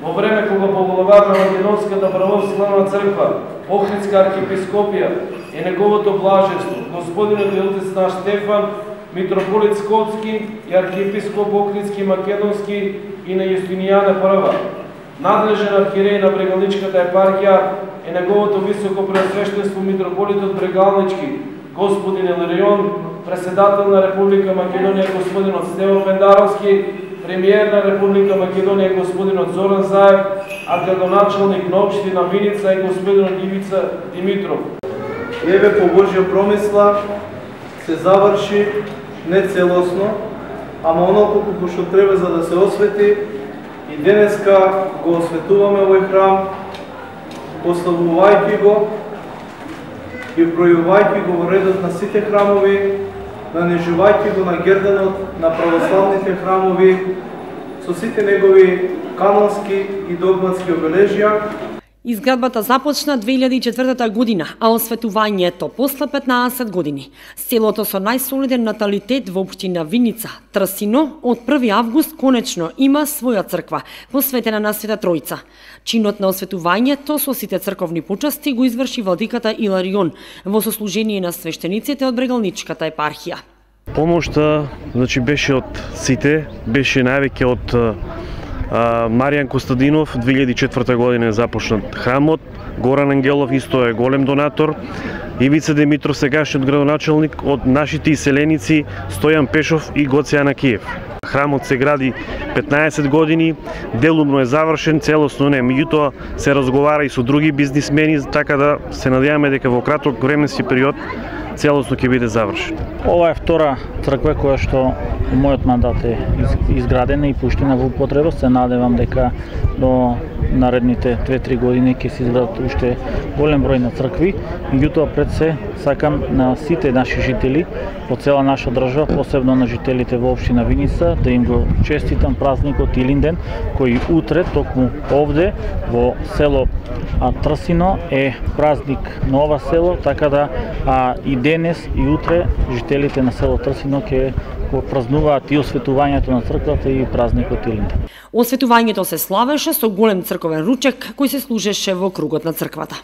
во време кога поглавар на Македонската православна црква, Охридска архиепископија и неговото блаженство, господинот и отец наш Стефан, митрополит Скопски и архиепископ Охридски Македонски и на Јустинијана I, надлежен архиерей на Брегалничката епархија и неговото високо преосвештенство митрополитот Брегалнички, господин Иларион, председател на Република Македонија господинот Стево Пендаровски, премиер на Република Македонија господинот Зоран Заев, а градоначалник на општина Виница и господинот Ивица Димитров. Еве по Божја промисла се заврши не целосно, ама оноко колку што треба за да се освети, и денеска го осветуваме овој храм, пославувајќи го и бројувајќи го во редот на сите храмови, нанижувајќи го на герданот на православните храмови со сите негови канонски и догматски обележја. Изградбата започна 2004 година, а осветувањето после 15 години. Селото со најсолиден наталитет во општина Виница, Трсино, од 1 август конечно има своја црква, посветена на Света Тројца. Чинот на осветувањето со сите црковни почасти го изврши владиката Иларион во сослужение на свештениците од Брегалничката епархија. Помошта, беше од сите, беше највеќе од Маријан Костадинов, 2004 година е започнат храмот, Горан Ангелов исто е голем донатор, Ивица Димитров сегашниот градоначалник, од нашите иселеници Стојан Пешов и Гоце Анакиев. Храмот се гради 15 години, делумно е завршен, целосно не, меѓутоа се разговара и со други бизнисмени, така да се надеваме дека во краток временски период целосно ќе биде завршен. Ова е втора црква која што мојот мандат е изградена и пуштена во употреба. Се надевам дека до наредните 2-3 години ќе се изградат уште голем број на цркви. Меѓутоа пред се сакам на сите наши жители по цела наша држава, посебно на жителите во општина Виница, да им го честитам празникот Илинден, кој утре токму овде во село Трсино е празник на ова село, така да и денес и утре жителите на село Трсино ќе го празнуваат и осветувањето на црквата и празникот Илинден. Осветувањето се славеше со голем црковен ручек кој се служеше во кругот на црквата.